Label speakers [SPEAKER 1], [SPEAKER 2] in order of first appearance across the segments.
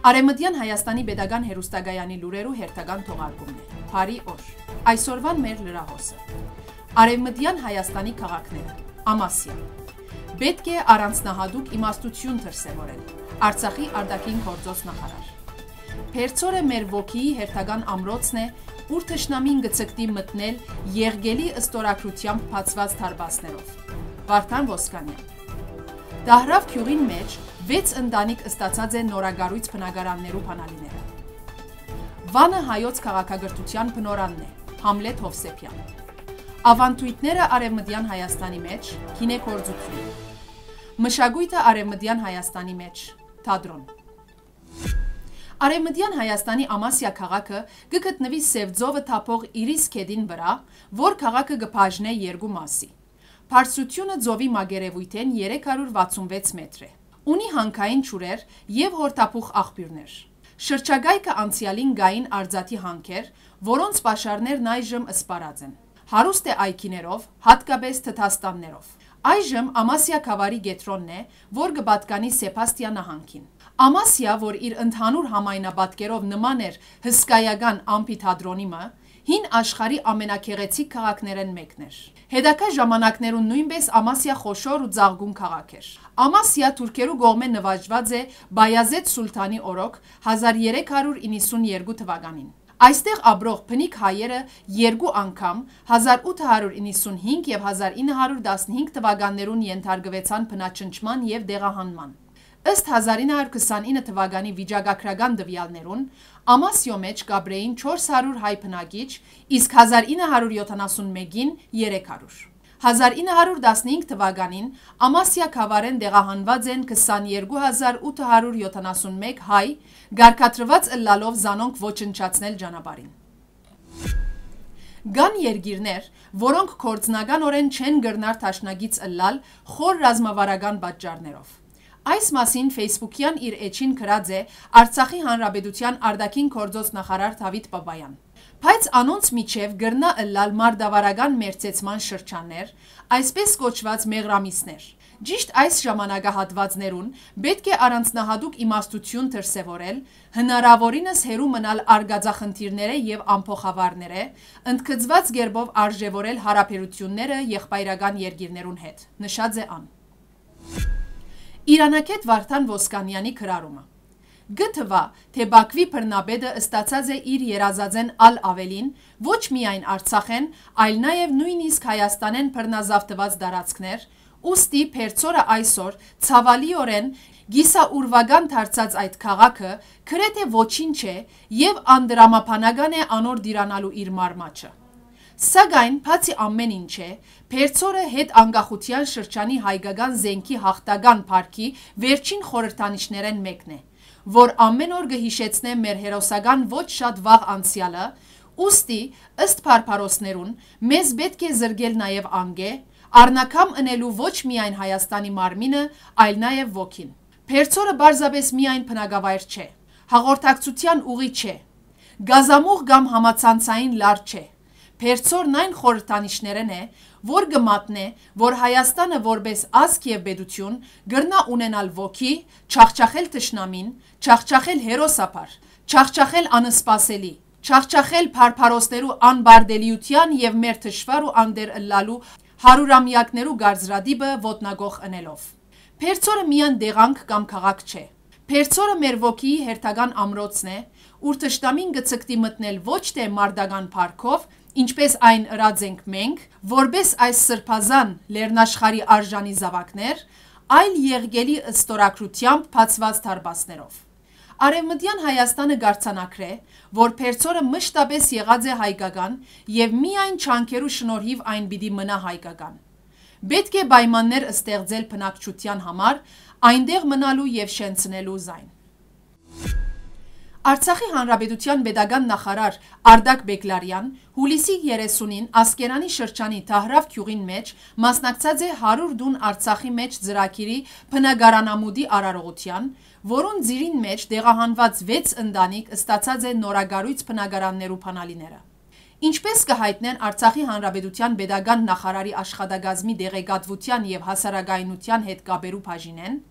[SPEAKER 1] Արևմտյան Հայաստանի Պետական հեռուստագայանի լուրերու հերթական թողարկումն է։ Փարի օր։ Այսօրվան մեր լրահոսը։ Արևմտյան Հայաստանի քաղաքները։ Ամասիա։ Պետք է առանձնահատուկ իմաստություն դրսևորել։ Արցախի արտաքին գործոս նախարար։ Փերծորը մեր ոգիի հերթական ամրոցն է, ուր թշնամին գցկտի մտնել եղգելի ըստորակրությամբ բացված թարբասներով։ Վարդան Ոսկանյան։ Դահրավ քյուղին մեջ 6 ընտանիք ստացած են նորագարույց բնակարաններու բանալիները։ Վանը հայոց քաղաքագրթության բնորանն է, Համլետ Հովսեփյան։ Ավանդույթները Արևմտյան Հայաստանի մեջ, գինեգործություն։ Մշակույթը Արևմտյան Հայաստանի մեջ, թատրոն։ Արևմտյան Հայաստանի Ամասիա քաղաքը գտնվի Սևձովը թափող Իրիս քեդին վրա, որ քաղաքը գբաժնե երկու մասի։ Բարձրությունը ձովի մագերևույթեն 366 մետր է։ Ունի հանքային ջուրեր եւ հորթափուխ աղբյուրներ։ Շրջագայքը անցյալին գային արձատի հանքեր, որոնց պաշարներն այժմ սպառած են։ Հարուստ է այգիներով, հատկապես թթաստաններով։ Այժմ Ամասիա գավառի գետրոնն է, որ կպատկանի Սեբաստիա նահանգին։ Ամասիա, որ իր ընդհանուր համայնապատկերով նման էր հսկայական ամֆիթատրոնիմը, հին աշխարհի ամենագեղեցիկ քաղաքներն մեկն էր։ Հետագա ժամանակներուն նույնպես Ամասիա խոշոր ու ծաղկուն քաղաք էր։ Ամասիա թուրքերու կողմէ նվաճված է Բայազեդ Սուլթանի օրոք 1392 թվականին։ Այստեղ ապրող բնիկ հայերը երկու անգամ 1895 եւ 1915 թվականներուն ենթարկվեցան բնաճնճման եւ դեղահանման։ Ըստ 1929 թվականի վիճակագրական տվյալներուն Ամասիո մեջ կաբրեին 400 հայ բնակիչ, իսկ 1971-ին 300։ 1915 թվականին Ամասիա գավառեն դեղահանված են 22871 հայ, գարկատրված ըլլալով զանոնք ոչնչացնել ճանապարհին։ Կան երկիրներ, որոնք կորձնականորեն չեն գրնար տաշնագից ըլլալ խոր ռազմավարական պատճառներով։ Այս մասին Facebook-յան իր էջին գրած է Արցախի Հանրապետության արտաքին գործոս նախարար Դավիթ Բաբայան։ Բայց անոնց միջև գրնա ըլլալ մարդավարական մերձեցման շրջաններ, այսպես կոչված մեղրամիսներ։ Ճիշտ այս ժամանակահատվածներուն պետք է առանձնահատուկ իմաստություն դրսևորել, հնարավորինս հերու մնալ արգածախնդիրները եւ ամփոխավարները, ընդգծված գերբով արժևորել հարաբերությունները եղբայրական երկիրներուն հետ, նշած է ան։ Իրանակետ Վարդան Ոսկանյանի գրառումը։ Գտվա, թե Բաքվի բռնապետը ստացած է իր երազածեն ալ ավելին, ոչ միայն Արցախեն, այլ նաև նույնիսկ Հայաստանեն բռնազավթված դարածքներ, ուստի Փերծորը այսօր ցավալիորեն գիսաուրվական դարձած այդ քաղաքը գրեթե ոչինչ է եւ անդրամապանական է անոր դիրանալու իր մարմաճը։ Սակայն բացի ամեն ինչը, Փերծորը հետ անկախության շրջանի հայկական զենքի հաղթական փառքի վերջին խորհրդանիշներն մեկն է, որ ամեն օր կհիշեցնե մեր հերոսական ոչ շատ վաղ անցյալը, ուստի ըստ փարփարոսներուն մեզ պետք է զրկել նաև անգե, առնակամ ընելու ոչ միայն Հայաստանի մարմինը, այլ նաև ոգին։ Փերծորը բարձրապես միայն բնակավայր չէ, հաղորդակցության ուղի չէ, գազամուղ կամ համացանցային լար չէ։ Փերծորն այն խորհրդանիշներն է, որ կմատնե, որ Հայաստանը որպես ազգ եւ պետություն գրնա ունենալ ոգի, չախչախել թշնամին, չախչախել հերոսապար, չախչախել անսպասելի, չախչախել փարփարոսներու անբարդելիության եւ մեր թշվար ու անդեր ըլլալու հարյուրամյակներու գարձրադիբը ոտնագող ընելով։ Փերծորը միան դեղանք կամ քաղաք չէ։ Փերծորը մեր ոգիի հերթական ամրոցն է, ուր թշնամին գցկտի մտնել ոչ թե մարդական փառքով, ինչպես այն ըրած ենք մենք, որպես այս սրբազան լեռնաշխարհի արժանի զավակներ, այլ եղգելի ըստորակրությամբ բացված թարբասներով։ Արևմտյան Հայաստանը գարցանակրե, որ Փերծորը մշտապես եղած է հայկական եւ միայն չանկերու շնորհիվ այն պիտի մնա հայկական։ Պետք է պայմաններ ստեղծել բնակչության համար, այնտեղ մնալու եւ շենցնելու զայն։ Արցախի Հանրապետության Պետական նախարար Արդակ Բեկլարյան հուլիսի 30-ին Ասկերանի շրջանի Դահրավ քյուղին մեջ մասնակցած է 100 դուն Արցախի մեջ ծրագիրի բնակարանամուտի արարողության, որոնց ծիրին մեջ դեղահանված 6 ընտանիք ստացած է նորագարույց բնակարաններու բանալիները։ Ինչպես կհայտնեն Արցախի Հանրապետության Պետական նախարարի աշխատակազմի դեղեկատվության եւ հասարակայնության հետ կապերու բաժինեն,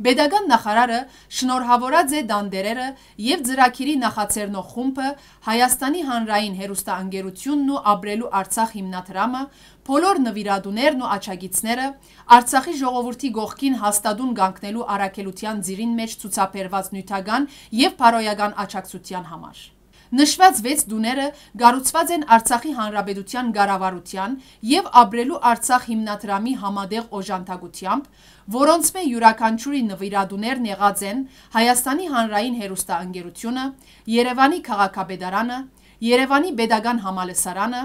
[SPEAKER 1] Պետական նախարարը շնորհավորած է դանդերերը եւ ծրագիրի նախաձեռնող խումբը Հայաստանի հանրային հեռուստաընկերությունն ու Ապրելու Արցախ հիմնադրամը, բոլոր նվիրատուներն ու աջակիցները Արցախի ժողովրդի գողքին հաստատուն կանգնելու առաքելության ծիրին մեջ ցուցաբերված նյութական եւ բարոյական աջակցության համար։ Նշված 6 դուները կառուցված են Արցախի Հանրապետության կառավարության եւ Ապրելու Արցախ հիմնադրամի համատեղ օժանդակությամբ, որոնց մե յուրաքանչյուրի նվիրատուներն եղած են Հայաստանի հանրային հեռուստաընկերությունը, Երևանի քաղաքապետարանը, Երևանի պետական համալսարանը,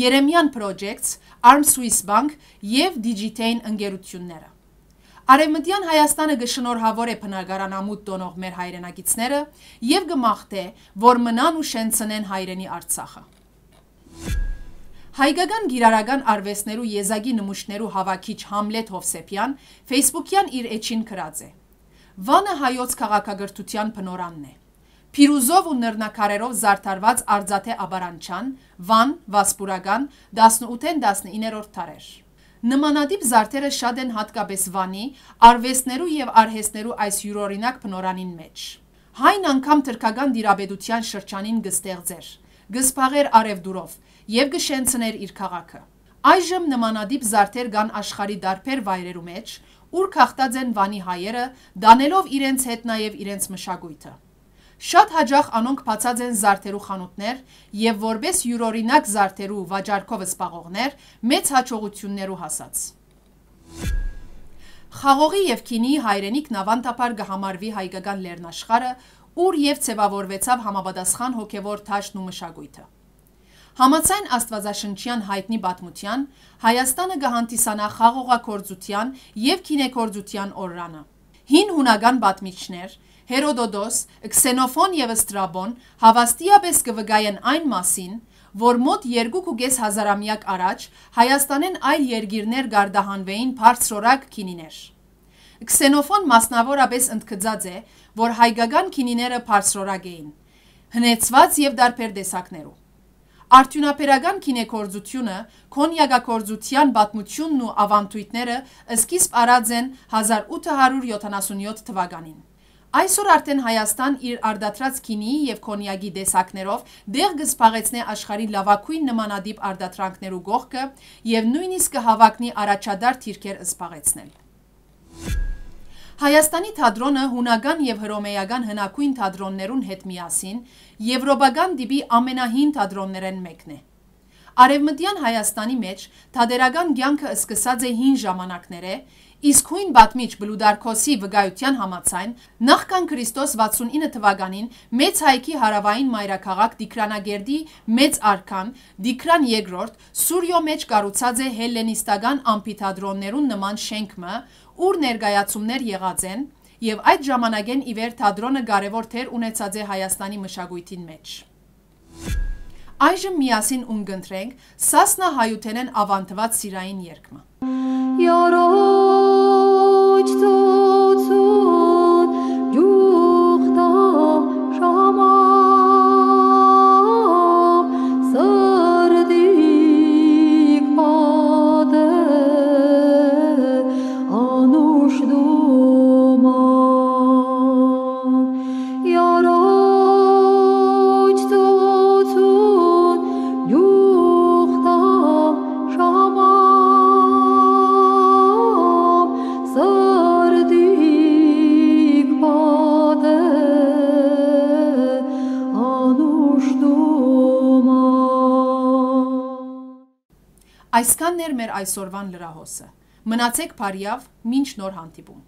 [SPEAKER 1] Երեմյան Projects, Arm Swiss Bank եւ Digitain ընկերությունները։ Արևմտյան Հայաստանը կշնորհավոր է բնակարանամուտ տոնող մեր հայրենակիցները եւ կմաղթե, որ մնան ու շենցնեն հայրենի Արցախը։ Հայկական գիրարական արվեստներու եզակի նմուշներու հավաքիչ Համլետ Հովսեփյան Facebook-յան իր էջին գրած է. Վանը հայոց քաղաքագրթության բնորանն է։ Փիրուզով ու նռնակարերով զարդարված Արձատե Աբարանչյան, Վան, Վասպուրական 18-19-րդ դարեր։ Նմանատիպ զարդերը շատ են հատկապես Վանի, արվեստներու եւ արհեստներու այս յուրօրինակ բնորանին մեջ։ Հայն անգամ թրքական դիրաբեդության շրջանին կստեղծեր, կսփաղեր արևդուրով եւ կշենցներ իր քաղաքը։ Այժմ նմանատիպ զարդեր կան աշխարհի դարբեր վայրերու մեջ, ուր քաղտած են Վանի հայերը, դանելով իրենց հետ նաեւ իրենց մշակույթը։ Շատ հաջող անոնք բացած են զարդերու խանութներ եւ որպես յուրօրինակ զարդերու վաճառքով սպաղողներ մեծ հաջողություններու հասած։ Խաղողի եւ քինիի հայրենիքն ավանդաբար կհամարվի հայկական լեռնաշխարը, ուր եւ ձևավորվեցավ համապատասխան հոգեվոր թաշն ու մշակույթը։ Համաձայն Աստվածաշնչյան հայտնի պատմության, Հայաստանը կհանդիսանա խաղողագործության եւ քինեգործության օրրանը։ Հին հունական պատմիչներ Հերոդոդոս, Քսենոֆոն եւ Ստրաբոն հավաստիապես կվգայեն այն մասին, որ մոտ 2.5 հազարամյակ առաջ Հայաստանեն այլ երկիրներ գարդահանվեին բարձրորակ քինիներ։ Քսենոֆոն մասնավորապես ընդգծած է, որ հայկական քինիները բարձրորակ էին, հնեցված եւ դարբեր տեսակներու։ Արդյունաբերական քինեգործությունը, կոնյակագործության պատմությունն ու ավանդույթները սկիզբ առած են 1877 թվականին։ Այսօր արդեն Հայաստան իր արդատրած քինիի եւ կոնյակի տեսակներով դեղ կսփաղեցնե աշխարհի լավագույն նմանատիպ արդատրանքներու գողքը եւ նույնիսկ կհավակնի առաջադար թիրքեր սփաղեցնել։ Հայաստանի թատրոնը հունական եւ հռոմեական հնագույն թատրոններուն հետ միասին եվրոպական տիպի ամենահին թատրոններեն մեկն է։ Արևմտյան Հայաստանի մեջ թատերական կյանքը սկսած է հին ժամանակները, իսկ հույն պատմիչ Բլուդարքոսի վկայության համաձայն նախքան Քրիստոս 69 թվականին մեծ հայքի հարավային մայրաքաղաք Դիկրանագերդի մեծ արքան Դիկրան II Սուրյո մեջ կառուցած է հելլենիստական ամփիթատրոններուն նման շենքը, ուր ներկայացումներ եղած են, եւ այդ ժամանակեն ի վեր թատրոնը կարևոր թեր ունեցած է Հայաստանի մշակույթին մեջ։ Այժմ միասին ունգընտրենք Սասնա հայութենեն ավանդված սիրային երգը։ Այսքանն էր մեր այսօրվան լրահոսը։ Մնացեք բարյավ, մինչ նոր հանդիպում։